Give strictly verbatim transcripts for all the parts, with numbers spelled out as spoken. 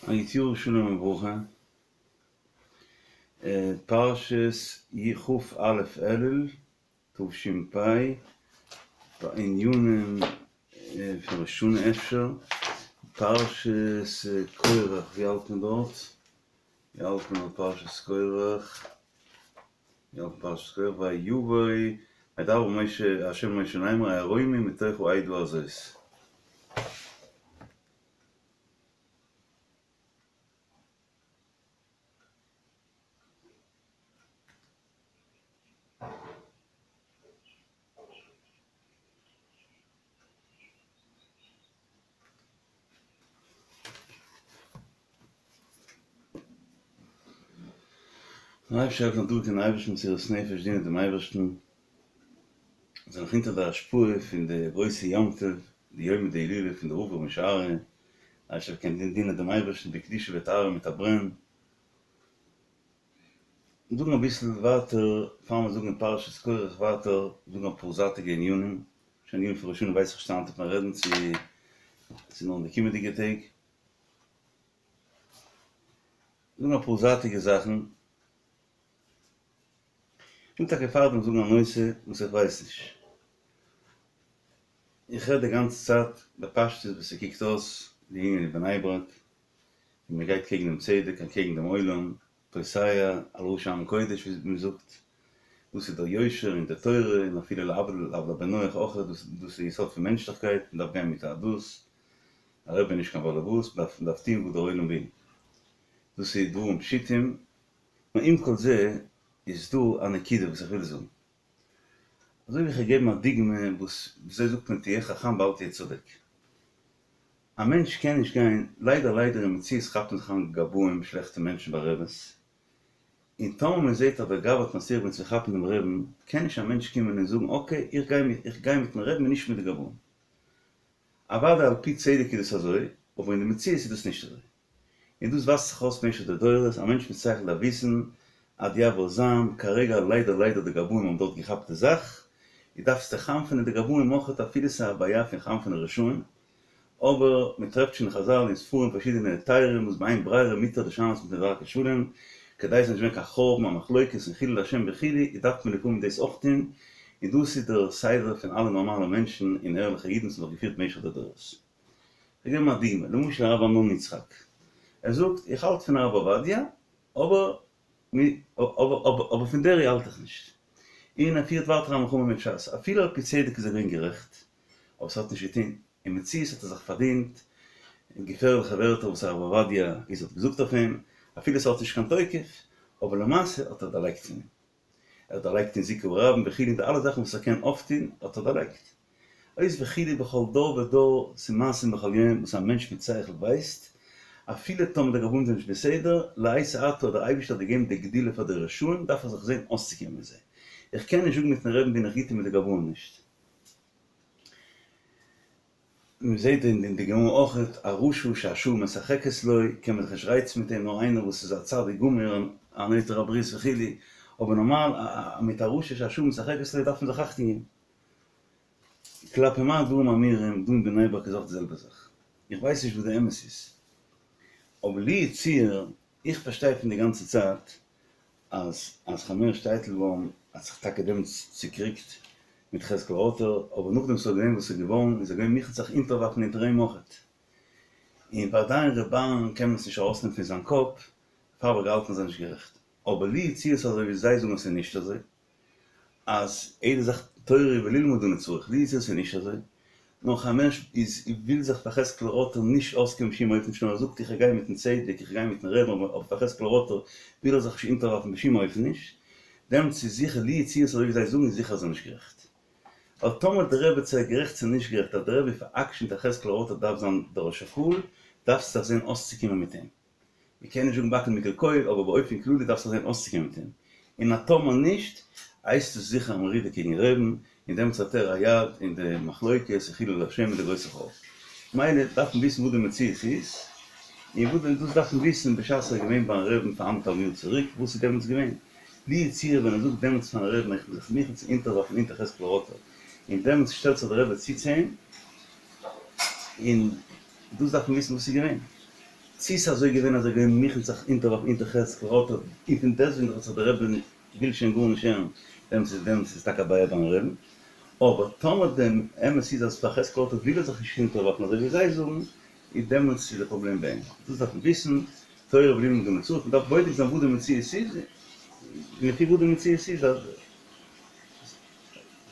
א גוט יאר שלום וברכה, פרשת כ"א אלול תש"פ, בענינים פון ראש השנה אפשר, פרשת קורח, ווי האלט מען דארט? ווי האלט מען אויף פרשת קורח? ווי האלט מען פרשת קורח? ויבא וידבר משה ה' אל משה לאמר הערומים מתוך העדה הזאת. דער אייבערשטער העלפן דא קען אייבערשטן מסירות נפש דינען דעם אייבערשטן, זענען נאך אונטער די השפעה פון די גרויסע יום טוב, די יומא דהילולא פון די רב ר' משה אריה, אייבערשטער קען דינען דעם אייבערשטן בקדושה וטהרה מיט א ברען. זאגן אביסל ווייטער, פאר מיר זאגן אין פרשת קורח ווייטער, זאגן אפאר זייטיגע ענינים, שוין ענינים פון ראש השנה ווייס איך נישט היינט וועט מען רעדן צו ס'איז נאר אין די קומענדיגע טעג. זאגן אפאר זייטיגע זאכן. כ'וויל טאקע פארדעם זאגן א נושא וואס איך ווייס נישט. איך רעד די גאנצע צייט בפשטות ווי ס'קוקט אויס די ענין אין בני ברק, ווי מ'גייט קעגן דעם צדק אנטקעגן דעם עולם, פוסע על ראשי עם קודש ווי מ'זאגט, דאס איז דער יושר און די תורה און אפילו להבדיל להבדיל בן נח אויך, דאס איז יסוד פון מענטשליכקייט, מ'דארף גיין מיט א דאס, א רבי איז נישט קיין באלעבאס, מ'דארף מ'דארף טון וואס דער עולם וויל, דאס איז דברים פשוטים, נאר עם כל זה איז דא א נקודה וואס איך וויל זאגן, אזוי ווי איך האב געגעבן א דוגמא וואס וויאזוי זאגט מען תהיה חכם ואל תהיה צודק, א מענטש קען נישט גיין, ליידער ליידער אין מציאות כאפט מען זיך אן גבאים שלעכטע מענטשן ביי רעבעס, און טאמער מען זעט אז דער גבאי האט מצליח געווען צו כאפן דעם רעבן, קען נישט א מענטש קומען און זאגן אקעי איך גיי מיט איך גיי מיטן רעבן און נישט מיט די גבאים. אוודאי על פי צדק איז דאס אזוי, אבער אין די מציאות איז דאס נישט אזוי. און דאס ווייזט זיך אויס במשך די דורות, א מענטש מיט שכל דארף וויסן אז יעבור זעם, כרגע ליידער ליידער די גבאים האבן דארט געכאפט די זאך, דו דארפסט דיך חנפ'ענען די גבאים אויכעט אפילו ס'איז א בעיה פון חנפ'ענען רשעים, אבער מען טרעפט שוין אין חזל אין ספרים פארשידענע היתרים וואס באין ברירה מותר לשנות מפני דרכי שלום, כדי ס'זאל נישט ווערן קיין חורבן א מחלוקת און חילול השם וכו' איז דארף מען לפעמים דאס אויך טון, און דאס איז דער סדר פון אלע נארמאלע מענטשן און ערליכע אידן וואס האבן זיך געפירט במשך די דורות. כ'וועל געבן א דוגמא, למשל הרב אמנון יצחק, ער זאגט איך האלט פון הרב עובדיה, אבער אבער פון דערי האלט איך נישט, און ער פירט ווייטער א מלחמה מיט שס, אפילו על פי צדק איז ער געווען גערעכט, אבער ס'האט נישט געטון, אין מציאות האט ער זיך פארדינט געפערליכע ווערטער וואס הרב עובדיה איז האט געזאגט אויף אים, אפילו ס'האט נישט קיין תוקף, אבער למעשה האט ער דערלייגט פון אים. ער האט דערלייגט אין זיכוי הרבים וכו' די אלע זאכן וואס ער קען אויפטון האט ער דערלייגט. אויס וכו' בכל דור ודור ס'מעשים בכל יום וואס א מענטש מיט שכל ווייסט, אפילו טאמער די גבאים זענען נישט בסדר, לעת עתה האט דער אייבערשטער האט געגעבן די גדולה פאר די רשעים דארף ער זיך זען אויסצוקומען מיט זיי. איך קען נישט זאגן מיטן רעבן בין איך גוט און מיט די גבאים נישט. מען זעט אין די גמרא אויכעט א רשע שהשעה משחקת לו, קען מען זיך נישט רייצן מיט אים, נאר איינער וואס איז א צדיק גמור, א נוטר הברית וכו', אבער נארמאל מיט א רשע שהשעה משחקת לו דארף מען זיך אכטונג געבן. כלפי מה הדברים אמורים, דא אין בני ברק איז אויך די זעלבע זאך. איך ווייס נישט וואס די אמת איז, אבער לי יצוייר, איך פארשטיי פון די גאנצע צייט אז אז חיים הערש טייטלבוים האט זיך טאקע דעמאלטס צוקריגט מיט חזקאל ראטער, אבער נאכדעם ס'איז געווען וואס ס'איז געווארן איז ער געווען מוכן זיך אונטערווארפן אונטער אים אויכעט. און ועדיין ר' אהרן קען מען עס נישט ארויסנעמען פון זיין קאפ, דערפאר האב איך געהאלטן אז ער איז נישט גערעכט. אבער לי יצוייר ס'איז אזוי ווי זיי זאגן אז ס'איז נישט אזוי, אז יעדע זאך תורה וללמוד אנו צריך, לי יצוייר ס'איז נישט אזוי, נאר חיים הערש איז וויל זיך פאר חזקאל ראטער נישט אויסקומען בשום אופן נישט נאר ער זאגט איך גיי מיטן צדק איך גיי מיטן רעבן אבער פאר חזקאל ראטער וויל ער זיך נישט אונטערווארפן בשום אופן נישט, דעמאלטס איז זיכער לי יצוייר אזוי ווי זיי זאגן איז זיכער אז ער איז נישט גערעכט. ווייל טאמער די רבי צו ער גערעכט צו נישט גערעכט אז די רבי פאר'עקשנ'ט אז חזקאל ראטער דארף זיין דער ראש הקהל דארפסטו זיך זען אויסצוקומען מיט אים. מ'קען נישט זאגן בכל מכל כל, אבער באופן כללי דארפסטו זען אויסצוקומען מיט אים. און אז טאמער נישט, הייסט עס זיכער א מרידה קעגן רעבן, און דעמאלטס האט ער א יד אין די מחלוקת און חילול השם און די גרויסע חורבן. מילא דארף מען וויסן וואס די מציאות איז, און וואס דאס דארף מען וויסן בשעת ער איז געווען ביים רעבן פאר אנדערטהאלבן יאר צוריק, וואס איז דעמאלטס געווען. לי יצוייר ווען ער זאגט דעמאלטס פארן רעבן איך בין זיך מוכן צו אונטערווארפן אונטער חזקאל ראטער, און דעמאלטס שטעלט זיך דער רבי צו צו אים, און דאס דארף מען וויסן וואס איז געווען. צי ס'איז אזוי געווען אז ער איז געווען מוכן זיך אונטערווארפן אונטער חזקאל ראטה, און פון דעסטוועגן האט זיך דער רבי וויל שוין גארנישט הערן, דעמאלטס איז דעמאלטס איז טאקע א בעיה ביים רעבן, אבער טאמער די אמת איז אז פאר חזקאל ראטה וויל ער זיך נישט אונטערווארפן אזוי ווי זיי זאגן, איז דעמאלטס איז די פראבלעם ביי אים. דאס דארף מען וויסן, תורה בלי לימוד המציאות, מען דארף בודק זיין וואס די מציאות איז, און לפי וואס די מציאות איז אז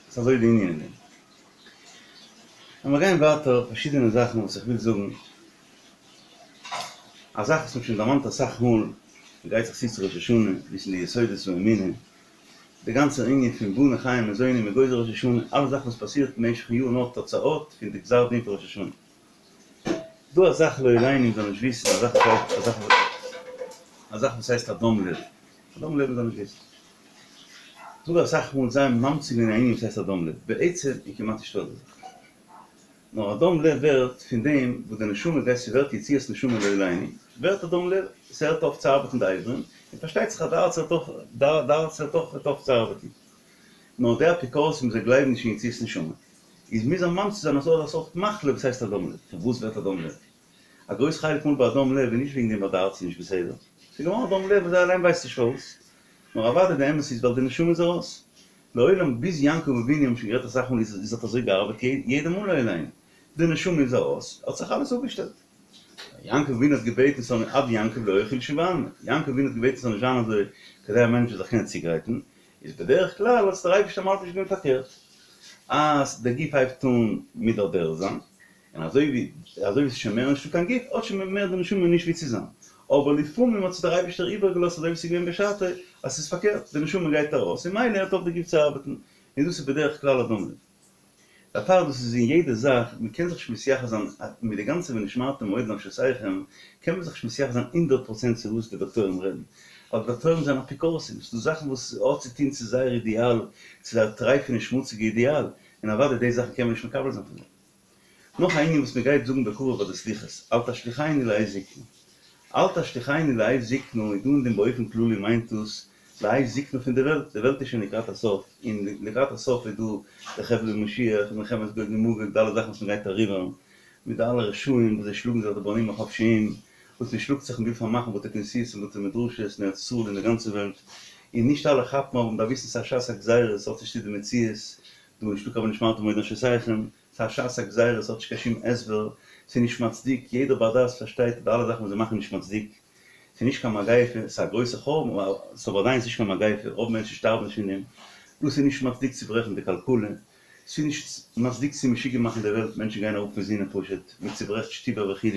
ס'איז אזוי די ענין אין דעם. לאמיר גיין ווייטער פארשידענע זאכן וואס איך וויל זאגן. א זאך וואס מ'האט שוין דערמאנט אסאך מאל, מ'גרייט זיך צו צו ראש השנה, וויסן די יסודות פון אמונה, די גאנצע ענין פון בני חיי ומזוני מ'גוזר ראש השנה, אלע זאכן וואס פאסירט במשך'ן יאר נאר תוצאות פון די גזר דין פון ראש השנה. דא א זאך לא עלינו מ'זאל נישט וויסן, א זאך וואס הייסט, א זאך וואס הייסט א דום לב, א דום לב מ'זאל נישט וויסן. דא אסאך מאל זיי ממציא געווען א ענין וואס הייסט א דום לב, בעצם איז כמעט נישטא אזא זאך. נאר א דום לב ווערט פון דעם וואס די נשמה גייט ס'ווערט יציאת נשמה לא עלינו, ווערט א דום לב, ס'הערט אויף צו ארבעטן די אברים, און פארשטייט זיך אז די הארץ הערט אויך, די הארץ הערט אויך אויף צו ארבעטן. נאר די אפיקורסים זיי גלייבן נישט אין יציאת נשמה, איז מוז ער ממציא זיין אז ס'איז אזא סארט מחלה וואס הייסט א דום לב. פון וואס ווערט א דום לב? א גרויס חלק מאל ביי א דום לב איז נישט וועגן דעם ווייל די הארץ איז נישט בסדר, ס'איז געווארן א דום לב וואס זיי אליין ווייסט נישט פארוואס, נאר אוודאי די אמת איז ווייל די נשמה איז ארויס. לעולם ביז יעקב אבינו האבן שוין גערעדט אסאך מאל איז האט אזוי געארבעט יעדע מאל לא עלינו די נשמה איז ארויס האט זיך אלעס אפגעשטעלט. יעקב אבינו האט געבעטן ס'זאל נישט עד יעקב לא אוכל שבעלמא יעקב אבינו האט געבעטן ס'זאל נישט זיין אזוי כדי א מענטש זאל זיך קענען צוגרייטן איז בדרך כלל האט עס דער אייבערשטער מלביש געווען פארקערט אז דער גוף הייבט אן מידרדר זיין און אזוי ווי אזוי ווי ס'איז שוין מער נישטא קיין גוף, האט שוין מער די נשמה נישט ווי צו זיין. אבער לפעמים האט עס דער אייבישטער איבערגעלאזט אזוי ווי ס'איז געווען בשעתו, אז ס'איז פארקערט, די נשמה גייט ארויס און ממילא הערט אויף די גוף צו ארבעטן, און דאס איז בדרך כלל א דום לב. דערפאר דאס איז אין יעדע זאך, מ'קען זיך נישט מתייחס זיין מיט די גאנצע ונשמרתם מאוד לנפשותיכם, קען מען זיך נישט מתייחס זיין הונדערט פראצענט צו וואס די דאקטוירים רעדן, ווייל די דאקטוירים זענען אפיקורסים, ס'איז דא זאכן וואס האט צו טון צו זייער אידיאל, צו זייער טרייפענע שמוציגע אידיאל, און אוודאי די זאכן קען מען נישט מקבל זיין פון זיי. נאך א ענין וואס מען גייט זאגן בקרוב ביי די סליחות, אל תשליכני לעת זקנה. אל תשליכני לעת זקנה איז דא אין דעם באופן כללי מיינט דאס לעת זקנה פון די וועלט, די וועלט איז שוין לקראת הסוף, און לקראת הסוף איז דא די חבלי משיח, מלחמת גוג ומגוג, די אלע זאכן וואס מען גייט אריבער, מיט די אלע רשעים וואס זיי שלאגן זיך די בנים החפשיים, וואס מען שלאגט זיך און וויל פארמאכן בתי כנסיות און בתי מדרשות אין ארץ ישראל און די גאנצע וועלט, און נישט אלע כאפן אבער מען דארף וויסן ס'איז א שעת הגזירה, ס'האט נישט צו די מציאות, דא איז נישטא קיין ונשמרתם מאוד לנפשותיכם, ס'איז א שעת הגזירה, ס'האט נישט קיין שום הסבר, ס'איז נישט מצדיק, יעדער בר דעת פארשטייט אז די אלע זאכן וואס זיי מאכן נישט מצדיק, ס'איז נישט קיין מגיפה, ס'איז א גרויסע חורבן, אבער ס'איז אבער עדיין נישט קיין מגיפה, רוב מענטשן שטארבן נישט פון דעם, דאס איז נישט מצדיק צו ברעכן די כלכלה, ס'איז נישט מצדיק צו משוגע מאכן די וועלט, מענטשן גייען אראפ פון זינען פשוט, מען צוברעכט שטיבער וכו',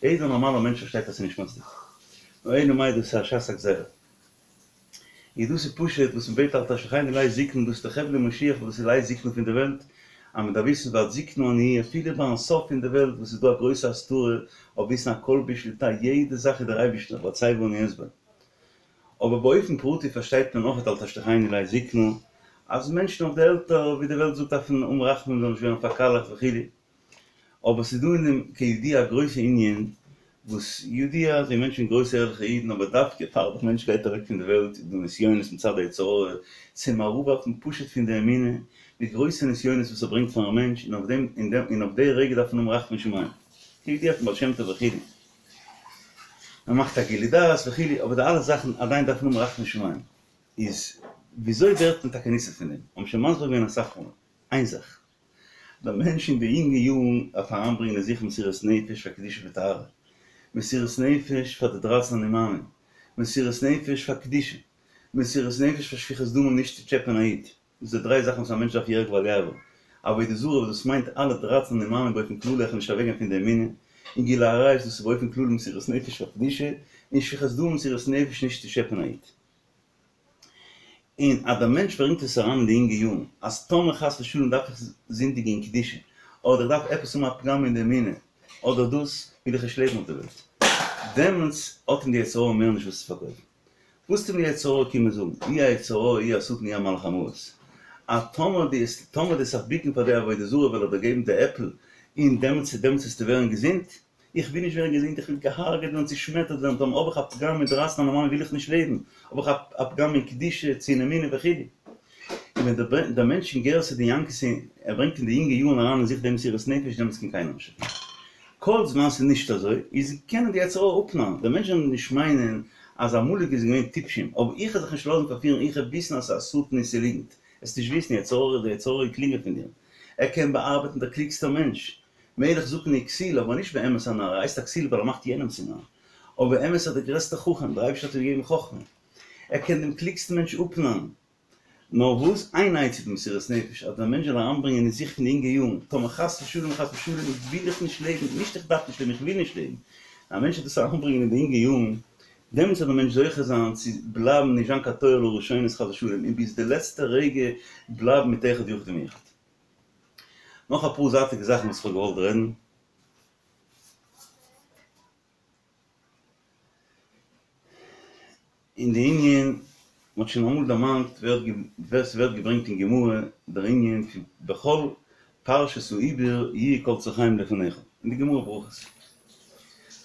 יעדער נארמאלער מענטש פארשטייט אז ס'איז נישט מצדיק. נאר אלא מאי דאס איז א שעת הגזירה. איז דאס איז פשוט וואס מ'בעט אל תשליכני לעת זקנה דאס איז די חבלי משיח וואס דאס איז לעת זקנה פון די וועלט, אז מ'דארף וויסן ועד זקנה אני אהיה אפילו ביים סוף פון די וועלט וואס איז דא א גרויסע הסתרה אויף וויסן הכל בשליטה יעדע זאך איז דער אייבישטער והצבה אני אצבע. אבער באופן פרטי פארשטייט מען אויך אל תשליכני לעת זקנה אז מענטשן אויף די עלטער ווי די וועלט זאגט דארפן האבן רחמים זאלן נישט ווערן פארקאלעכט וכו'. אבער ס'איז דא אין דעם כידוע א גרויסע ענין וואס ידוע אז ווי מענטשן גרויסע ערליכע אידן אבער דווקא פאר דער מענטש גייט אוועק פון די וועלט איז דא נסיונות מצד היצר הרע צו אים אראפווארפן פשוט פון די אמונה מיט גרויסע נסיונות וואס ער ברענגט פארן מענטש און אויף דעם און אויף די רגע דארף מען האבן רחמי שמים כידוע פון בעל שם טוב וכו' מען מאכט א גילוי דעת וכו' אבער די אלע זאכן עדיין דארף מען האבן רחמי שמים איז וויאזוי ווערט מען טאקע ניצול פון דעם האבן שוין מסביר געווען אסאך מאל איין זאך. דער מענטש אין די יונגע יארן דארף אריינברענגען אין זיך מסירות נפש פאר קדושה וטהרה, מסירות נפש פאר די דרייצן אני מאמין, מסירות נפש פאר קדושה, מסירות נפש פאר שפיכות דמים נישט צו טשעפען א איד, דאס איז די דריי זאכן וואס א מענטש דארף יהרג ואל יעבור, עבודה זרה וואס דאס מיינט אלע דרייצן אני מאמין באופן כללי איך נישט אוועקגיין פון די אמונה, און גילוי עריות דאס איז באופן כללי מסירות נפש פאר קדושה, און שפיכות דמים מסירות נפש נישט צו טשעפען א איד. און אז דער מענטש ברענגט עס אריין אין די אינגע יארן, אז טאמער חס ושלום דארף איך זינדיגן אין קדושה, אדער איך דארף עפעס האבן א פגם אין די אמונה, אדער דאס, וויל איך נישט לעבן אויף די וועלט. דעמאלטס האט אים די יצר הרע מער נישט וואס צו פארקויפן. וואס וועט אים די יצר הרע קומען זאגן? אי היצר הרע אי השטן אי המלאך המוות. אז טאמער דו וועסט טאמער דו וועסט זיך בוקן פאר די עבודה זרה וועל איך דיר געבן די עפל, און דעמאלטס דעמאלטס וועסטו ווערן געזונט. איך וויל נישט ווערן געזונט, איך וויל געהארגעט ווערן, צושמעטערט ווערן, טאמער האב איך א פגם אין דרייצן אני מאמין וויל איך נישט לעבן, האב איך א פגם אין קדושה צו אין אמונה וכו'. און ווען דער מענטש אין גירסא דינקותא, ער ברענגט אין די יונגע יארן אריין אין זיך דעם מסירות נפש, דעמאלטס קען קיינער נישט. כל זמן ס'איז נישט אזוי, איז קען די יצר הרע אפנארן, די מענטשן זאלן נישט מיינען אז עמלק איז געווען טיפשים, אבער איך וועל זיך נישט לאזן פארפירן, איך וועל וויסן אז ס'איז א שטן און ס'איז ליגנט, וועסט נישט וויסן, יצר הרע, דער יצר הרע איז קלוגער פון דיר, ער קען באארבעטן דער קלוגסטער מענטש, מלך זקן וכסיל, אבער נישט באמת א נאר, ער הייסט א כסיל ווייל ער מאכט יענעם צו נאר, אבער באמת איז ער דער גרעסטער חכם, דער אייבערשטער האט אים געגעבן חכמה, ער קען דעם קלוגסטן מענטש אפנארן. נאר וואס? איין עצה איז מסירת נפש, אז דער מענטש זאל אריינברענגען אין זיך פון די אינגע יארן, טאמער חס ושלום חס ושלום וויל איך נישט לעבן, נישט איך דארף נישט לעבן, איך וויל נישט לעבן, א מענטש זאל דאס אריינברענגען אין די אינגע יארן, דעמאלטס וועט דער מענטש זוכה זיין צו בלייבן נישט זיין קיין תוהא לראשונות חס ושלום, און ביז די לעצטע רגע בלייבן מיט אחד יחיד ומיוחד. נאך אפאר זייטיגע זאכן וואס איך האב געוואלט רעדן. אין די ענין, מ'האט שוין אמאל דערמאנט, ווער ס'ווערט געברענגט אין גמרא דער ענין פון בכל פרשת העיבור יהיו כל צרכיהם לפניך, אין די גמרא ברכות.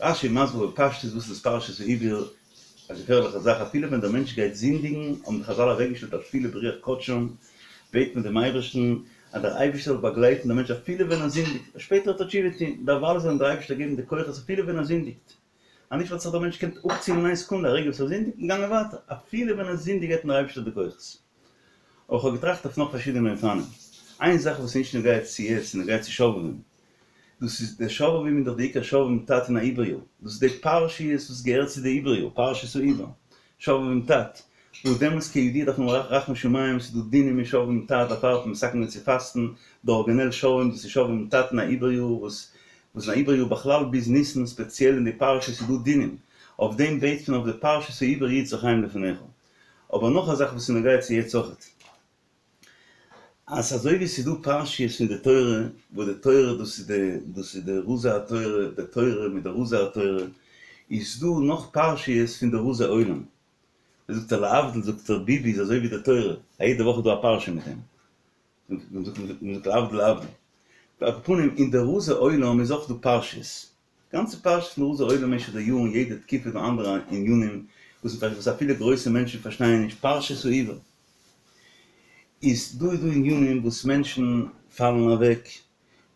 רש"י מסביר בפשטות וואס איז פרשת העיבור, א געפערליכע זאך, אפילו ווען דער מענטש גייט זינדיגן, האבן די חז"ל אוועקגעשטעלט א תפילה ברוח קדשם, בעט מען דעם אייבערשטן אז דער אייבערשטער זאל באגלייטן דעם מענטש אפילו ווען ער זינדיגט, שפעטער וועט ער תשובה טון, דערווייל זאל אים דער אייבערשטער געבן די כוחות אפילו ווען ער זינדיגט. אנישט וואלט זיך דער מענטש געקענט אפציען אין איין סעקונדע, א רגע וואס ער זינדיגט און געגאנגען ווייטער, אפילו ווען ער זינדיגט געבט אים דער אייבערשטער די כוחות. אבער כ'האב געטראכט אויף נאך פארשידענע אופנים. איין זאך וואס איז נישט נוגע צו יעצט איז נוגע צו שובבים. דאס איז די שובבים איז דאך די עיקר שובבים ת"ת אין א עיבור יאר. דאס איז די פרשיות וואס געהערט צו די עיבור יאר, פרשת העיבור, שובבים ת"ת. וואס דעמאלטס כידוע דארף מען רחמי שמים, ס'איז דא דינים אין שובבים ת"ת, דערפאר האט מען מתקן געווען צו פאסטן, די ארגינעל שובבים דאס איז שובבים ת"ת אין א עיבור יאר וואס וואס אין א עיבור יאר בכלל ביז ניסן ספעציעל אין די פרשה איז דא דינים, אויף דעם בעט מען אויף די פרשת העיבור יהיו צרכיהם לפניך. אבער נאך א זאך וואס איז נוגע צו יעצט אויכעט, אז אזוי ווי ס'איז דא פרשיות פון די תורה, וואס די תורה דאס איז די דאס איז די רזי התורה, די תורה מיט די רזי התורה, איז דא נאך פרשיות פון די רזי עולם. ווי זאגט ער להבדיל זאגט ער ביבי איז אזוי ווי די תורה, א יעדע וואך איז דא א פרשה מיט אים. מ'זאגט להבדיל להבדיל. על כל פנים אין די רזי עולם איז אויך דא פרשיות. גאנצע פרשיות פון רזי עולם במשך די יארן יעדע תקופה איז דא אנדערע ענינים וואס וואס אפילו גרויסע מענטשן פארשטייען נישט פרשת העיבור. איז דא איז דא ענינים וואס מענטשן פאלן אוועק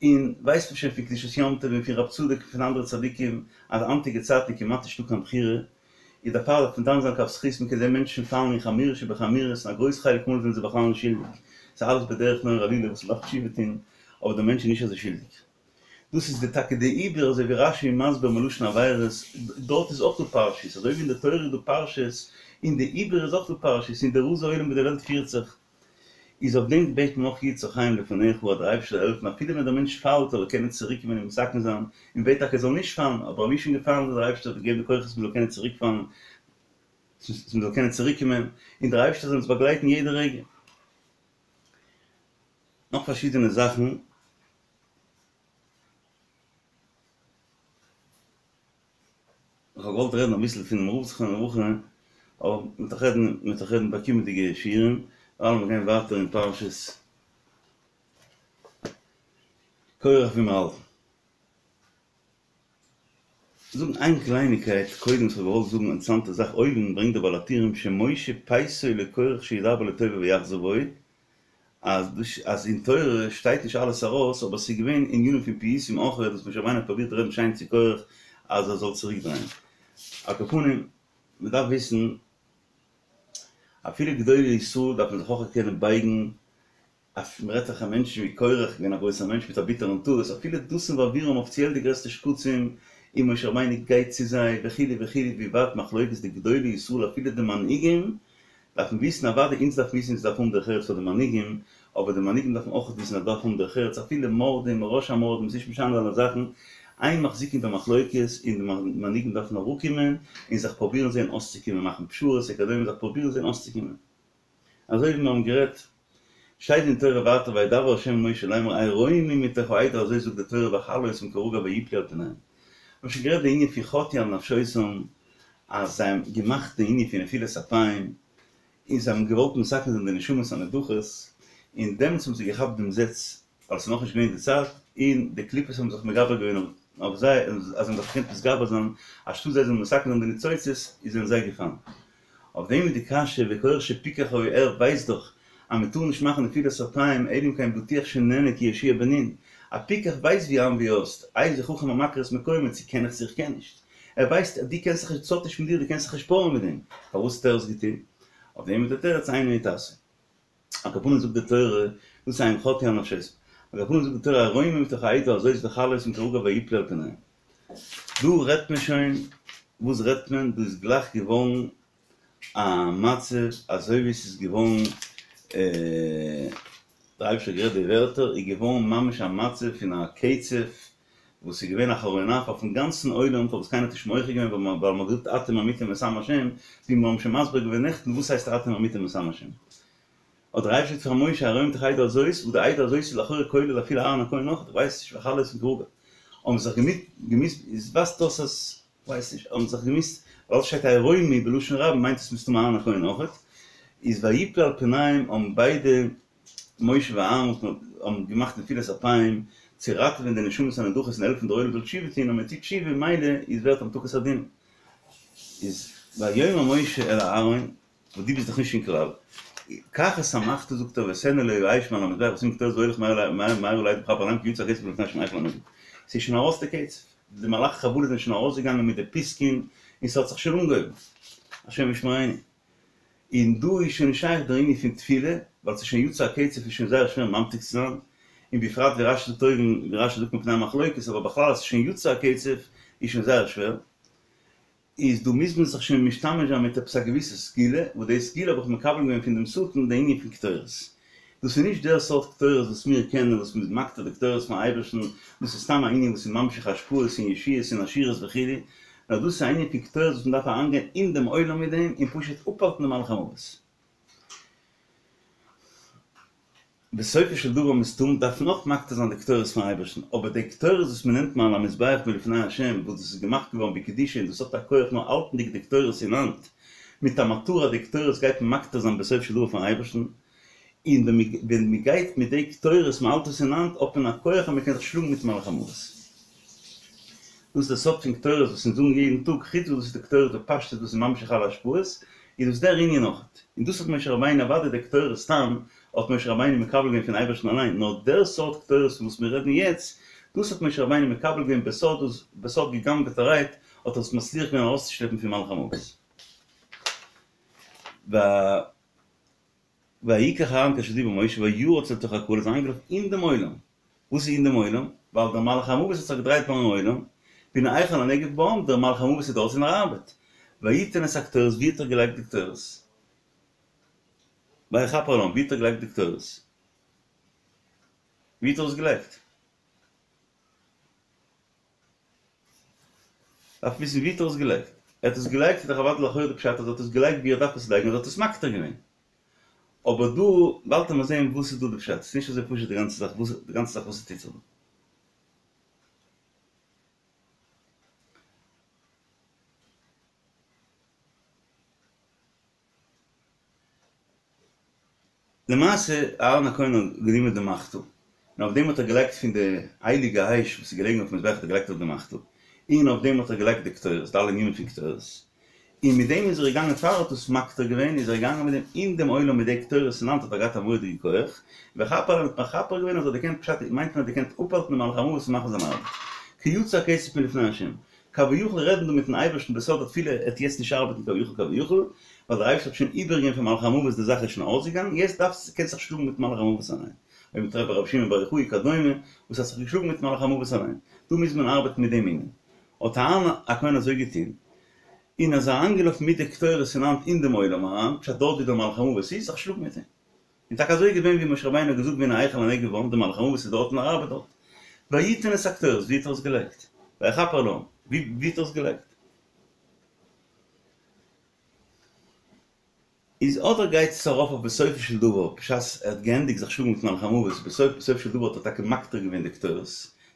און ווייסט מען שוין פון קדושת יום טוב און פון רב צדוק און פון אנדערע צדיקים אז היינטיגע צייטן איז כמעט נישטא קיין בחירה, איז דערפאר דארף מען דן זיין לכף זכות מ'קען זען מענטשן פאלן אין חמורות שבחמורות און א גרויס חלק מאל זענען זיי בכלל נישט שולדיג, ס'איז אלעס בדרך נורא עלילה וואס מ'דארף תשובה טון, אבער דער מענטש איז נישט אזוי שולדיג. דאס איז די טאקע די עיבור אזוי ווי רש"י איז מסביר מלשון עבירות, דארט איז אויך דא פרשיות, אזוי ווי אין די תורה איז דא פרשיות, אין די עיבור איז אויך דא פרשיות, אין די רזי עולם ווי די וועלט פירט זיך. איז אויף דעם בעט מען אויך יהיו צרכיהם לפניך אז דער אייבערשטער זאל העלפן אפילו ווען דער מענטש פאלט זאל ער קענען צוריק קומען און מתקן זיין, און מ'בעט טאקע ער זאל נישט פאלן, אבער אויב איז שוין געפאלן זאל דער אייבערשטער געבן די כוחות מען זאל קענען צוריק פאלן, מען זאל קענען צוריק קומען, און דער אייבערשטער זאל אונז באגלייטן יעדע רגע. נאך פארשידענע זאכן. איך האב געוואלט רעדן אביסל פונעם רב זכרונו לברכה, אבער מ'וועט דאך רעדן, מ'וועט דאך רעדן ביי קומענדיגע שיעורים, דערווייל מיר גייען ווייטער אין פרשת קורח ווי מיר האלטן. זאגן איין קלייניקייט קודם וואס כ'האב געוואלט זאגן אינטערעסאנטע זאך אויבן ברענגט דער בעל הטורים שמשה פייסו לקורח שידבר לטובה ויחזור בו, אז דאס אז אין תורה שטייט נישט אלעס ארויס אבער ס'איז געווען ענינים פון פיוסים אויך וואס משה רבינו האט פרובירט רעדן שיין צו קורח אז ער זאל צוריק דרייען. על כל פנים מ'דארף וויסן אפילו גדולי ישראל דארף מען זיך אויך קענען בייגן אויף מ'רעדט זיך א מענטשן ווי קורח געווען א גרויסער מענטש מיט א ביטערן טעות אפילו דתן ואבירם אפיציעל די גרעסטע שקצים און משה רבינו גייט צו זיי וכו' וכו' ווי ווייט מחלוקת די גדולי ישראל אפילו די מנהיגים דארף מען וויסן אוודאי אונז דארף וויסן אונז דארף האבן דרך ארץ פאר די מנהיגים אבער די מנהיגים דארפן אויך וויסן אז דארף האבן דרך ארץ אפילו מורדים ראש המורדים ס'נישט משנה די אלע זאכן אין מחזיקין במחלוקת און די מנהיגים דארפן אראפקומען און זיך פרובירן זען אויסצוקומען מאכן פשרות וכדומה זיך פרובירן זען אויסצוקומען אזוי ווי מיר האבן גערעדט שטייט אין תורה ווייטער וידבר ה' אל משה לאמר עירומים מתוך העדה אזוי זאגט די תורה ואכלה אותם כרגע ויפלו על פניהם. מיר האבן שוין גערעדט די ענין פון חטאו על נפשותם אז זיי האבן געמאכט די ענין פון נפילת אפיים און זיי האבן געוואלט מתקן זיין די נשמות הנדחות און דעמאלטס האבן זיי געכאפט דעם זעץ ווייל עס איז נאכנישט געווען די צייט און די קליפות האבן זיך מגבר געווען אויף זיי אז זיי האבן זיך געקענט מתגבר זיין אנשטאט זיי זאלן מתקן זיין די ניצוצות איז זענען זיי געפאלן. אויף דעם איז די קשיא וקורח שפיקח היה ער ווייסט דאך אז מען טאר נישט מאכן נפילת אפיים אלא אם כן בטוח שנענה כיהושע בן נון א פיקח ווייסט ווי איין ווי אויס, איזהו חכם המכיר את מקומו, צו קען איך צו איך קען נישט. ער ווייסט אז דו קענסט זיך נישט, ס'האט נישט מיט דיר, דו קענסט זיך נישט פארען מיט דעם. פארוואס האט ער עס געטון? אויף דעם איז דער תירוץ אינו יתעשה. על כל פנים זאגט די תורה, דאס איז הם חטאו על נפשותם. על כל פנים זאגט די תורה הרומו מתוך העדה הזאת וכלה אותם כרגע ויפלו על פניהם. דא רעדט מען שוין, וואס רעדט מען? דא איז גלייך געווארן א מצב אזוי ווי ס'איז געווארן, דער אייבערשטער האט גערעדט די ווערטער, איז געווארן ממש א מצב פון א קצף וואס איז געווען א חרון אף אויפן גאנצן עולם פארוואס קיינער האט נישט מוחה געווען ווייל מ'האט געזאגט אתם המיתם את עם השם, ווי מיר האבן שוין מסביר געווען נעכטן וואס הייסט אתם המיתם את עם השם. האט דער אייבערשטער געזאגט פאר משה הרומו מתוך העדה הזאת, וואס די עדה הזאת איז לכאורה כולל אפילו אהרן הכהן אויך, איך ווייס נישט וכלה אותם כרגע האבן זיך געמוזט, איז ווייזט אויס אז כ'ווייס נישט, האבן זיך געמוזט, ווייל ס'שטייט הרומו בלשון רבים מיינט עס מסתמא אהרן הכהן אויכעט, איז ויפלו על פניהם האבן ביידע משה ואהרן האבן געמאכט נפילת אפיים צו ראטעווען די נשמות הנדחות און העלפן דער עולם זאל תשובה טון, אז מען טוט תשובה ממילא איז ווערט המתקת הדין. איז ויאמר משה אל אהרן, וואס דו ביסט דאך נישט אין כלל, קח את המחתה זאגט ער ותן עליה האש מעל המזבח ושים קטורת והולך מהרה מהרה אל העדה וכפר עליהם כי יצא הקצף מלפני השם החל הנגף. ס'איז שוין ארויס די קצף, די מלאכי חבלה זענען שוין ארויסגעגאנגען מיט די פיסקין און ס'האט זיך שוין אנגעהויבן, השם ישמרינו. און דא איז שוין נישט שייך דער ענין פון תפילה, ווייל ס'איז שוין יצא הקצף איז שוין זייער שווער ממתיק צו זיין, און בפרט ווי רשי זאגט אויבן, ווי רשי זאגט מפני המחלוקת, אבער בכלל אז ס'איז שוין יצא הקצף איז שוין זייער שווער, איז דא מוז מען זיך שוין משתמש זיין מיט עפעס א געוויסע סגולה, וואס די סגולה האב איך מקבל געווען פון דעם שטן, די ענין פון קטורת. דאס איז נישט דער סארט קטורת וואס מיר קענען, וואס מ'איז מקטיר די קטורת פארן אייבערשטן, דאס איז סתם א ענין וואס איז ממשיך השפעות און ישועות און עשירות וכו', נאר דאס איז א ענין פון קטורת וואס מ'דארף אריינגיין אין דעם עולם מיט דעם און פשוט אפהאלטן די מלאך המוות. בסופו של דבר מסתמא דארף מען אויך מקטיר זיין די קטורת פארן אייבערשטן, אבער די קטורת וואס מ'נעמט מעל המזבח מלפני השם, וואס דאס איז געמאכט געווארן בקדושה און דאס האט א כח נאר האלטנדיג די קטורת אין האנט, מיט א מטרה די קטורת גייט מען מקטיר זיין בסופו של דבר פארן אייבערשטן, און ווען מען גייט מיט די קטורת מען האלט עס אין האנט האט מען א כח אז מען קען זיך שלאגן מיט מלאך המוות. דאס איז די סוד פון קטורת וואס אונז זאגן יעדן טאג, חוץ וואס דאס איז די קטורת בפשטות וואס איז ממשיך אלע השפעות, איז דאס דער ענין אויך. און דאס האט משה רבינו אוודאי די קטורת סתם האט משה רבינו מקבל געווען פון אייבערשטן אליין, נאר דער סארט קטורת פון וואס מיר רעדן יעצט, דאס האט משה רבינו מקבל געווען בסוד, בסוד גע'גנב'עטערהייט האט ער עס מצליח געווען ארויסצושלעפן פון מלאך המוות. ויקח אהרן כאשר דיבר משה וירץ אל תוך הקהל איז אריינגעלאפן אין דעם עולם, וואס איז אין דעם עולם? ווייל דער מלאך המוות האט זיך געדרייט ביים עולם, והנה החל הנגף בעם, דער מלאך המוות איז דארט און ער ארבעט, ויתן את הקטורת, ווי האט ער געלייגט די קטורת? ויכפר על העם, ווי האט ער געלייגט די קטורת? ווי האט ער עס געלייגט? דארף וויסן ווי האט ער עס געלייגט. ער האט עס געלייגט איז דאך אוודאי לכאורה די פשט אז ער האט עס געלייגט ווי ער דארף עס לייגן אז ער האט עס מקטיר געווען. אבער דא באלד וועט מען זעהן וואס איז דא די פשט, ס'איז נישט אזוי פשוט די גאנצע זאך וואס די גאנצע זאך וואס ס'טוט זיך דא. למעשה אהרן הכהן האט גענומען די מחתה, און אויף דעם האט ער געלייגט פון די הייליגע אש וואס איז געלעגן אויפן מזבח האט ער געלייגט אויף די מחתה, און אויף דעם האט ער געלייגט די קטורת, די אלע ענינים פון קטורת, און מיט דעם איז ער געגאנגען פאר ער האט עס מקטיר געווען איז ער געגאנגען מיט דעם אין דעם עולם מיט די קטורת אין האנט האט ער געהאט א מורא'דיגע כח, ויכפר עליהם האט מכפר געווען אז ער האט געקענט פשט מיינט מען האט געקענט אפהאלטן דעם מלאך המוות פון מאכן זיין ארבעט, כי יצא הקצף מלפני השם. כביכול רעדן דא מיטן אייבערשטן בסוד התפילה עט יעצט נישט ארבעטן כביכול כביכול, ווייל דער אייבערשטער האט שוין איבערגעגעבן פאר מלאך המוות די זאך איז שוין אויסגעגאנגען יעצט דארפסט קענסט זיך שלאגן מיטן מלאך המוות אליין, אויב מ'טרעפט ביי רבי שמעון בר יוחאי כדומה וואס האט זיך געשלאגן מיטן מלאך המוות אליין, דא מוז מען ארבעטן מיט דעם ענין, האט אהרן הכהן אזוי געטון, און איז אריינגעלאפן מיט די קטורת אין האנט אין דעם עולם אריין, פשט דארט ווי דער מלאך המוות איז, זיך שלאגן מיט אים. און טאקע אזוי איז געווען ווי משה רבינו האט געזאגט והנה החל הנגף בעם, דער מלאך המוות איז דארט און ער ארבעט דארט. ויתן את הקטורת, ווי האט ער עס געלייגט? ויכפר על העם, ווי האט ער עס געלייגט? איז אדער גייט עס ארויף אויף בסופו של דבר, בשעת ער האט געענדיגט זיך שלאגן מיט מלאך המוות, בסוף בסופו של דבר האט ער טאקע מקטיר געווען די קטורת,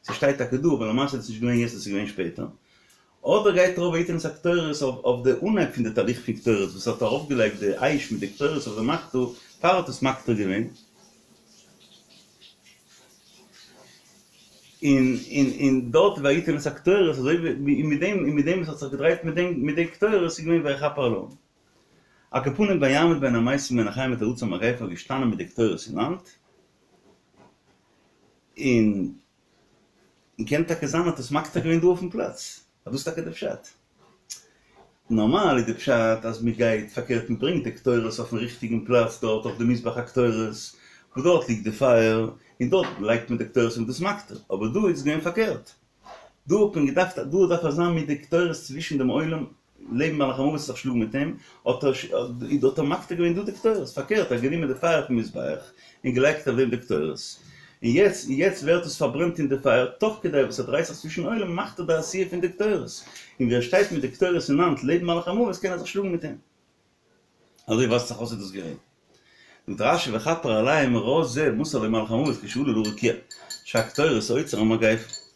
ס'שטייט טאקע דא, אבער למעשה איז עס נישט געווען יעצט, עס איז געווען שפעטער. אדער גייט ארויף ויתן את הקטורת אויף די אנהייב פון די תהליך פון קטורת וואס האט ארויפגעלייגט די אש מיט די קטורת אויף די מחתה פאר ער האט עס מקטיר געווען, און און און דארט ויתן את הקטורת אזוי ווי און מיט דעם און מיט דעם וואס האט זיך געדרייט מיט דעם מיט די קטורת איז געווען ויכפר על העם. על כל פנים ויעמוד בין המתים ובין החיים ותרץ המגפה געשטאנען מיט די קטורת אין האנט און און קען טאקע זיין האט עס מקטיר געווען דא אויפן פלאץ, אז דאס איז טאקע די פשט. נארמאל איז די פשט אז מען גייט פארקערט מען ברענגט די קטורת אויפן ריכטיגן פלאץ דארט אויף די מזבח הקטורת וואס דארט ליגט די פייער און דארט לייגט מען די קטורת און דאס מקטיר, אבער דא איז געווען פארקערט דא האט מען געדארפט דא דארף ער זיין מיט די קטורת צווישן דעם עולם לעבן מלאך המוות זיך שלאגן מיט אים, האט ער האט ער מקטיר געווען דא די קטורת, פארקערט ער האט גענומען די פייער פון מזבח און געלייגט אויף דעם די קטורת, און יעצט און יעצט ווערט עס פארברענט אין די פייער, תוך כדי וואס ער דרייט זיך צווישן עולם מאכט ער די עשייה פון די קטורת, און ווי ער שטייט מיט די קטורת אין האנט לעבן מלאך המוות קען ער זיך שלאגן מיט אים. אזוי ווייזט זיך אויס איז דאס געווען. זאגט רש"י וכפר עליהם רז זה מסר לו מלאך המוות כשעלה לרקיע שהקטורת עוצר המגיפה.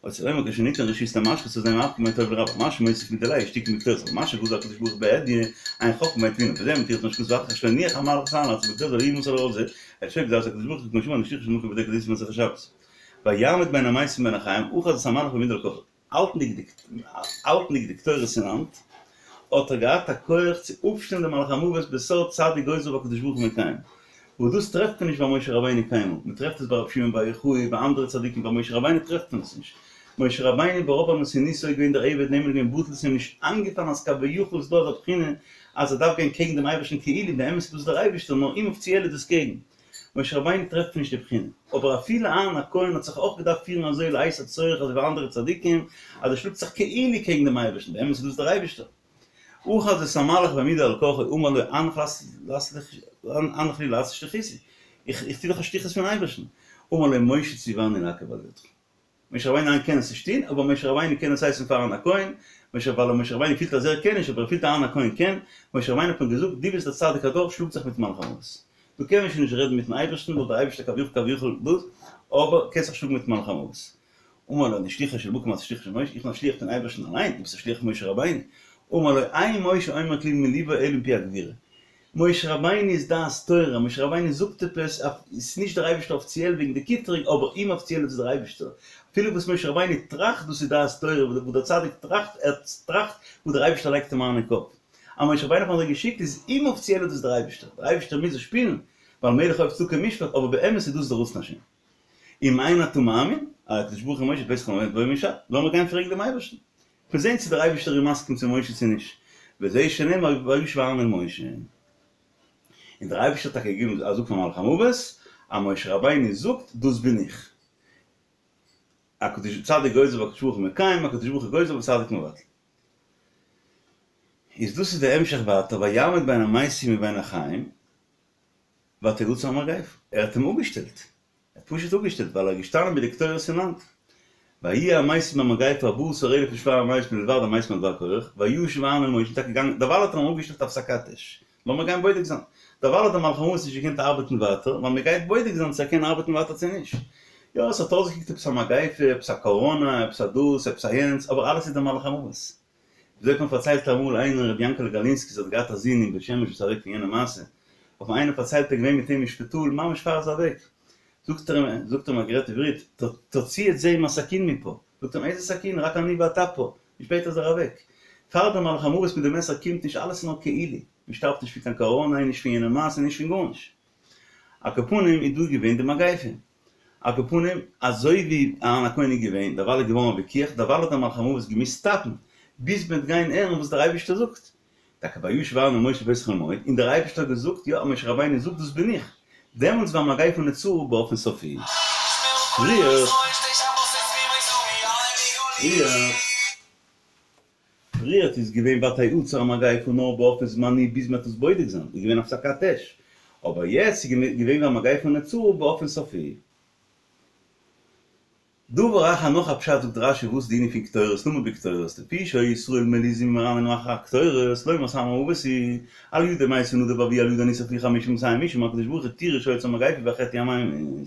רוצה לומר כשניתן רשות למשחית אזי מהפכין בין טוב לרע מה שמוסיף מדיליה איז תיקון בקטורת מה שגזר הקדוש ברוך הוא בהדיא אין חכמה ואין תבונה וזה מתירץ מה שכתוב אחר שלא הניח המלאך את אהרן לעשות בקטורת אלא הוא מסר לו רז זה אלא שלא גזר הקדוש ברוך הוא כמו שאמר אני שליחו של מקום בודק את מסכת שבת ויעמוד בין המתים ובין החיים אחז את המלאך בעמידה על כוחו האלטנדיג די קטורת אין האנט, האט ער געהאט א כח צו אפשטעלן דעם מלאך המוות בסוד צדיק גוזר והקדוש ברוך הוא מקיים, וואס דאס טרעפט מען נישט ביי משה רבינו קיינמאל, מען טרעפט עס ביי רבי שמעון בר יוחאי, ביי אנדערע צדיקים, ביי משה רבינו טרעפט מען עס נישט. משה רבינו ברוב ענוותנותו איז געווען דער עבד נאמן געווען בטל ס'איז אים נישט איינגעפאלן אז כביכול איז דא אזא בחינה אז ער דארף גיין קעגן דעם אייבערשטן כאילו באמת איז דאס דער אייבערשטער נאר אומאפיציעל איז דאס קעגן משה רבינו טרעפט נישט די בחינה, אבער אפילו אהרן הכהן האט זיך אויך געדארפט פירן אזוי לעת הצורך אזוי ווי אנדערע צדיקים, אז ער שלאגט זיך כאילו קעגן דעם אייבערשטן, באמת איז דאס דער אייבערשטער. אחז את המלאך בעמידו על כרחו אמר לו הנח לי לעשות שליחותי, איך טו דאך א שליחות פון אייבערשטן, אמר לו משה ציווני לעכב על ידך. משה רבינו אליין קען עס נישט טון, אבער משה רבינו קען עס הייסן פאר אהרן הכהן, משה ווייל משה רבינו פילט אז ער קען נישט, אבער ער פילט אהרן הכהן קען, משה רבינו האט אים געזאגט, דו ביסט דער צדיק הדור, שלאג זיך מיטן מלאך המוות. דא קען מען שוין נישט רעדן מיטן אייבערשטן, ווייל דער אייבערשטער כביכול כביכול דאס, אבער קענסט זיך שלאגן מיטן מלאך המוות. אמר לו אני שליחו של מקום אתה שליחו של משה, איך בין א שליח פון אייבערשטן אליין, דו ביסט א שליח פון משה רבינו. אמר לו אין משה אומר כלום מליבו אלא מפי הגבורה. משה רבינו איז דעת תורה, משה רבינו זאגט עפעס, ס'איז נישט דער אייבערשטער אפיציעל וועגן די קטרוג, אבער אומאפיציעל איז עס דער אייבערשטער, אפילו וואס משה רבינו טראכט דאס איז דעת תורה, וואס דער צדיק טראכט, ער טראכט וואס דער אייבערשטער לייגט אים אריין אין קאפ, אז משה רבינו האט אים אזוי געשיקט איז אומאפיציעל איז דאס דער אייבערשטער, דער אייבערשטער מוז עס שפילן, ווייל מלך אוהב צדקה ומשפט, אבער באמת איז דאס דער רצון השם. אם אין אתה מאמין, הקדוש ברוך הוא משה פתח לו בוא לאמיר גיין פרעגן דעם אייבערשטן. מיר זעהן צו דער אייבערשטער איז מסכים צו משה צו נישט, וזה שנאמר וישב אהרן אל משה, און דער אייבערשטער האט טאקע געגעבן א זאג פאר מלאך המוות, אז משה רבינו זאגט דאס בין איך, הקדוש צדיק גוזר והקדוש ברוך הוא מקיים, הקדוש ברוך הוא גוזר וצדיק מבטל. איז דאס איז די המשך ווייטער ויעמוד בין המתים ובין החיים, ותעצר המגפה, ער האט אים אפגעשטעלט, ער האט פשוט אפגעשטעלט ווייל ער איז געשטאנען מיט די קטורת אין האנט. ויהיו המתים במגפה ארבעה עשר אלף ושבע מאות מלבד המתים על דבר קרח, וישב אהרן אל משה, טאקע געגאנגען, דערווייל האט ער אים אפגעשטעלט הפסקת אש, לאמיר גיין בודק זיין, דערווייל האט דער מלאך המוות נישט געקענט ארבעטן ווייטער, ווייל מען גייט בודק זיין צו ער קען ארבעטן ווייטער צו נישט. יא, עס האט אויסגעקוקט עפעס א מגיפה, עפעס א קאראנא, עפעס א דאס, עפעס א יענץ, אבער אלעס איז דער מלאך המוות. וויאזוי האט מיר פארציילט אמאל איינער רבי יענקעלע גאלינסקי האט געהאט א זון אין בית שמש וואס איז אוועק פון יענע מעשה, האט מיר איינער פארציילט ער איז געווען מיט אים אין שפיטאל ממש פאר ער איז אוועק, זאגט ער אים, זאגט ער אים ער האט גערעדט עברית, תוציא את זה עם הסכין מפה, זאגט ער אים איזה סכין רק אני ואתה פה, און שפעטער איז ער אוועק. פאר דער מלאך המוות מיט די מעסער קומט נישט אלעס איז נאר כאילו, מען שטארבט נישט פון קיין קאראנא און נישט פון יענע מעשה און נישט פון גארנישט. על כל פנים איז דא געווען די מגיפה. על כל פנים, אזוי ווי אהרן הכהן איז געווען, דערווייל איז געווארן א וויכוח, דערווייל האט דער מלאך המוות געמוזט סטאפן, ביז מ'וועט גיין הערן וואס דער אייבערשטער זאגט. טאקע וישב אהרן אל משה בפתח אהל מועד, און דער אייבערשטער האט געזאגט, יא, משה רבינו זאגט דאס בין איך, דעמאלטס והמגיפה נעצרה באופן סופי. פריער. פריער. פריערט איז געווען ותעצר המגיפה נאר באופן זמני ביז מ'האט עס בודק זיין, איז געווען הפסקת אש, אבער יעצט איז געווען והמגיפה נעצרה באופן סופי. דבר אחר נאך א פשט זאגט רש"י וואס די ענין פון קטורת למה בקטורת לפי שהיו ישראל מלוזים ומרננים אחר הקטורת לומר סם המוות הוא על ידו מתו נדב ואביהוא על ידו נשרפו חמשים ומאתים איש אמר הקדוש ברוך הוא תראו שעוצר המגיפה והחטא הוא הממית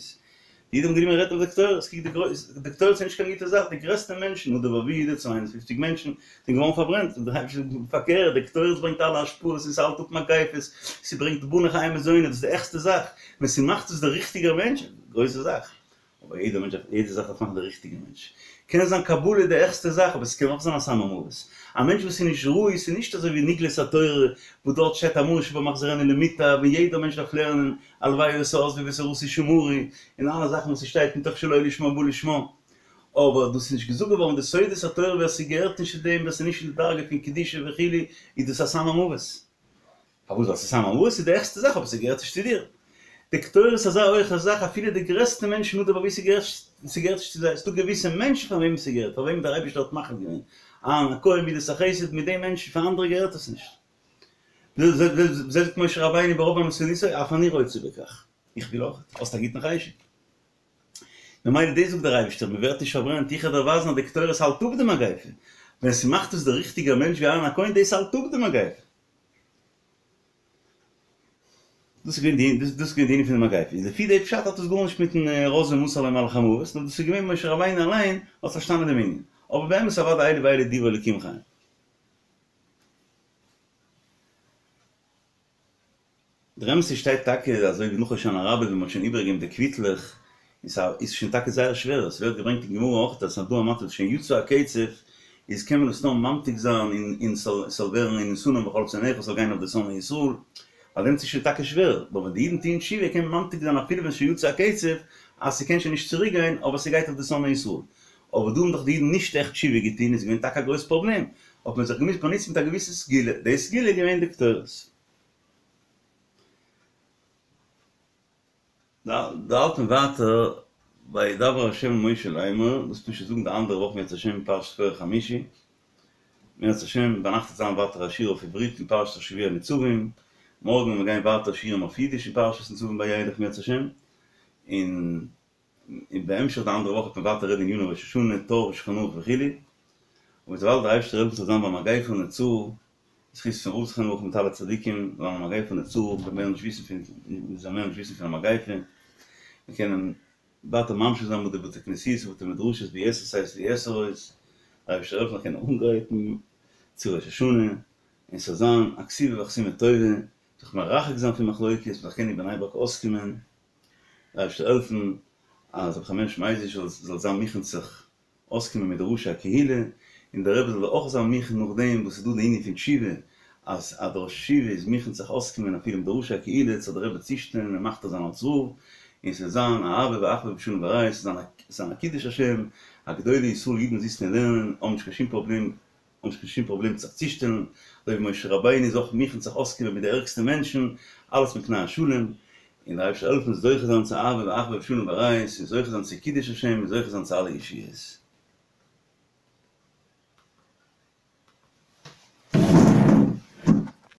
די אידן האבן גענומען רעדן אויף די קטורת, קוק די גרויס, די קטורת איז נישט קיין גוטע זאך, די גרעסטע מענטשן, נדב ואביהוא די צוויי הונדערט פופציג מענטשן, זענען געווארן פארברענט, און דער אייבערשטער זאגט פארקערט, די קטורת ברענגט אלע השפעות און ס'האלט אפ מגיפות, ס'ברענגט בני חיי ומזוני, דאס איז די העכסטע זאך, ווען ס'מאכט עס דער ריכטיגער מענטש, גרויסע זאך, אבער יעדער מענטש דארף, יעדע זאך דארף מאכן דער ריכטיגער מענטש, קען זיין קבלה איז די העכסטע זאך, אבער ס'קען אויך זיין א סם המוות, א מענטש וואס איז נישט ראוי, ס'איז נישט אזוי ווי נגלות התורה וואס דארט שטייט המאור שבמחזורנו למוטב, און יעדער מענטש דארף לערנען, הלוואי היתה עזבי ותורתי שמורי, און אלע זאכן וואס ס'שטייט מתוך שלא לשמה בא לשמה. אבער דאס איז נישט געזאגט געווארן די סודות התורה ווער ס'געהערט נישט צו דעם ווער ס'איז נישט אין די דרגה פון קדושה וכו' איז דאס א סם המוות. פארוואס? ווייל ס'איז סם המוות איז די העכסטע זאך אבער ס'געהערט נישט צו דיר. די קטורת איז אזא הויכע זאך אפילו די גרעסטע מענטשן נדב ואביהוא ס'געהערט ס'געהערט נישט צו זיי. ס'דא געוויסע מענטשן פאר וועמען ס'געהערט פאר וועמען דער אייבערשטער האט מחליט געווען אהרן הכהן מידת החסד מיט די מענטשן פאר אנדערע געהערט עס נישט. זאגט משה רבינו ברוב ענוותנותו אף אני רוצה בכך. איך וויל אויך. האסט א גוטן חשק. ממילא דאס זאגט דער אייבערשטער, מען ווערט נישט פארברענט, איך וועל דיר ווייזן אז די קטורת האלט אפ די מגיפה, ווען ס'מאכט עס דער ריכטיגער מענטש ווי אהרן הכהן, דאס האלט אפ די מגיפה. דאס איז געווען די דאס איז געווען די ענין פון די מגיפה, איז לפי די פשט האט עס גארנישט מיטן רז ומסר לו מלאך המוות, נאר דאס איז געווען משה רבינו אליין האט פארשטאנען דעם ענין, אבער באמת אוודאי אלו ואלו דברי אלוקים חיים. דער אמת איז שטייט טאקע אזוי ווי נאך הושענא רבה ווען מ'האט שוין איבערגעגעבן די קוויטלעך און סא איז שוין טאקע זייער שווער עס ווערט געברענגט אין גמרא אויך אז ס'איז דא א מצב שוין יצא הקצף איז קען מען עס נאר ממתיק זיין און און ס'זאל ס'זאל ווערן ונתנם בכל שונאיך ס'זאל גיין אויף די שונאי ישראל ביי דעם איז שוין טאקע שווער אבער ווען די אידן טוען תשובה קען מען ממתיק זיין אפילו ווען שוין יצא הקצף אז ס'קען שוין נישט צוריק גיין אבער ס'גייט אויף די שונאי ישראל אבער דא האבן דאך די אידן נישט עכט תשובה געטון איז געווען טאקע א גרויס פראבלעם האט מען זיך געמוזט באנוצן מיט א געוויסע סגולה די סגולה איז געווען די קטורת. דא האלט מען ווייטער וידבר ה' אל משה לאמר, דאס וועט מען שוין זאגן די אנדערע וואך אם ירצה השם פרשת קרח חמישי, אם ירצה השם ביינאכט וועט זיין ווייטער א שיעור אויף עברית אין פרשת השבוע ניצבים, מארגן וועט מען גיין ווייטער שיעורים אויף אידיש אין פרשת ניצבים וילך אם ירצה השם, און בהמשך די אנדערע וואך וועט מען ווייטער רעדן עניני ראש השנה, טור ושולחן ערוך וכו', און וויבאלד דער אייבערשטער העלפט ס'זאל זיין במגיפה נצור, זכות פון רב זכרונו לברכה מיט אלע צדיקים, זאל זיין במגיפה נצור, מ'זאל מער נישט וויסן פון, מ'זאל מער נישט וויסן פון א מגיפה, מיר קענען ווייטער ממשיך זיין מיט די בתי כנסיות ובתי מדרשות ביתר שאת ויתר עוז, דער אייבערשטער העלפן זיך קענען אנגרייטן צו ראש השנה, און ס'זאל זיין א כתיבה וחתימה טובה, זיך מרחק זיין פון מחלוקת, מ'זאל קענען אין בני ברק אויסקומען. דער אייבערשטער העלפן אז רבי חיים הערש מייזליש זאל זיין מוכן זיך אויסקומען מיט די ראשי הקהילה, און דער רבי זאל אויך זיין מוכן נאכדעם וואס איז דא די ענין פון תשובה, אז אז דער ראש ישיבה איז מוכן זיך אויסקומען אפילו מיט די ראשי הקהילה זאל דער רבי צושטעלן און מכתיר זיין אלס רב, און ס'זאל זיין אהבה ואחווה ושלום ורעות, ס'זאל זיין א קידוש השם, אז גדולי ישראל אידן זיצן און לערנען, האבן נישט קיין שום פראבלעם האבן נישט קיין שום פראבלעם זיך צושטעלן, אזוי ווי משה רבינו איז אויך מוכן זיך אויסקומען מיט די ערגסטע מענטשן, אלעס מפני השלום, און דער אייבערשטער העלפן זוכה זיין צו אהבה ואחווה ושלום ורעות, און זוכה זיין צו קידוש השם, און זוכה זיין צו אלע ישועות.